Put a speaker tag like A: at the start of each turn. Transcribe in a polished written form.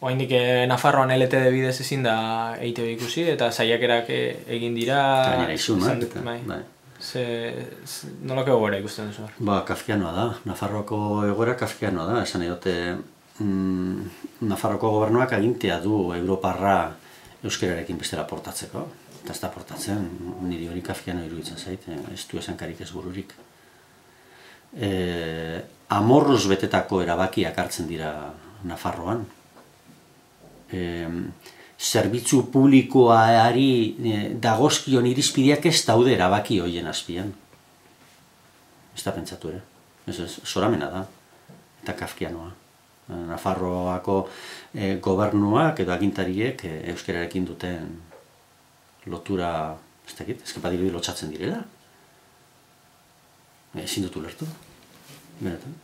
A: Oraindik Nafarroan LTD bidez ezin da EITB ikusi, eta saiakerak egin dira...
B: Gainera izunak,
A: bai. Nolako egoera ikusten duzu?
B: Kafkianoa da. Nafarroako egoera kafkianoa da. Esan edote, Nafarroako gobernuak agintea du Europarra euskerarekin bestera portatzeko. Eta ez da portatzen, niri hori kafkiano iruditzen zait, ez du esankarik ez bururik. Amorruz betetako erabakiak hartzen dira Nafarroan. Zerbitzu publikoari dagozkion irizpideak ez daude erabaki horien azpian. Ez da pentsatu ere. Ez, zoramena da. Eta kafkianoa. Nafarroako gobernuak edo agintariek euskerarekin duten lotura, ez dakit, ezkepadirudi lotxatzen direla. Ezin dut ulertu. Benetan.